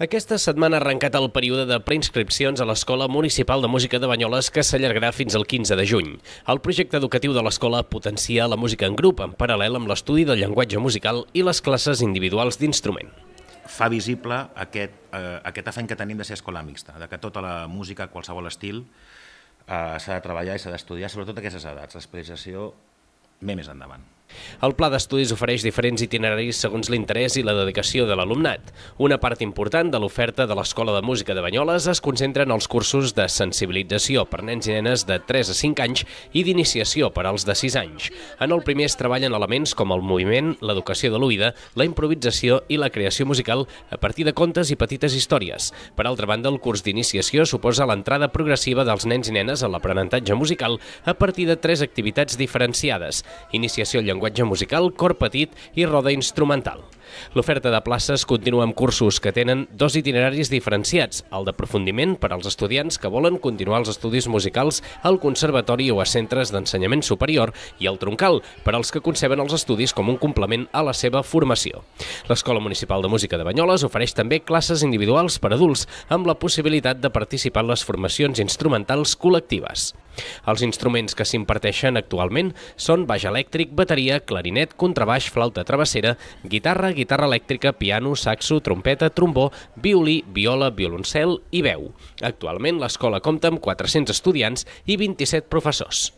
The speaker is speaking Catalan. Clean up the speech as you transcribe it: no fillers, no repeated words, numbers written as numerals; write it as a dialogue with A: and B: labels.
A: Aquesta setmana ha arrencat el període de preinscripcions a l'Escola Municipal de Música de Banyoles, que s'allargarà fins al 15 de juny. El projecte educatiu de l'escola potencia la música en grup, en paral·lel amb l'estudi del llenguatge musical i les classes individuals d'instrument.
B: Fa visible aquest afany que tenim de ser escola mixta, de que tota la música, qualsevol estil, s'ha de treballar i s'ha d'estudiar, sobretot a aquestes edats. L'especialització ve més endavant.
A: El pla d'estudis ofereix diferents itineraris segons l'interès i la dedicació de l'alumnat. Una part important de l'oferta de l'Escola de Música de Banyoles es concentra en els cursos de sensibilització per nens i nenes de 3 a 5 anys i d'iniciació per als de 6 anys. En el primer es treballen elements com el moviment, l'educació de l'oïda, la improvisació i la creació musical a partir de contes i petites històries. Per altra banda, el curs d'iniciació suposa l'entrada progressiva dels nens i nenes a l'aprenentatge musical a partir de 3 activitats diferenciades: iniciació al llenguatge musical, cor petit i roda instrumental. L'oferta de places continua amb cursos que tenen 2 itineraris diferenciats, el d'aprofundiment per als estudiants que volen continuar els estudis musicals al conservatori o a centres d'ensenyament superior i el troncal per als que conceben els estudis com un complement a la seva formació. L'Escola Municipal de Música de Banyoles ofereix també classes individuals per adults amb la possibilitat de participar en les formacions instrumentals col·lectives. Els instruments que s'imparteixen actualment són baix elèctric, bateria, clarinet, contrabaix, flauta travessera, guitarra, guitarra elèctrica, piano, saxo, trompeta, trombó, violí, viola, violoncel i veu. Actualment l'escola compta amb 400 estudiants i 27 professors.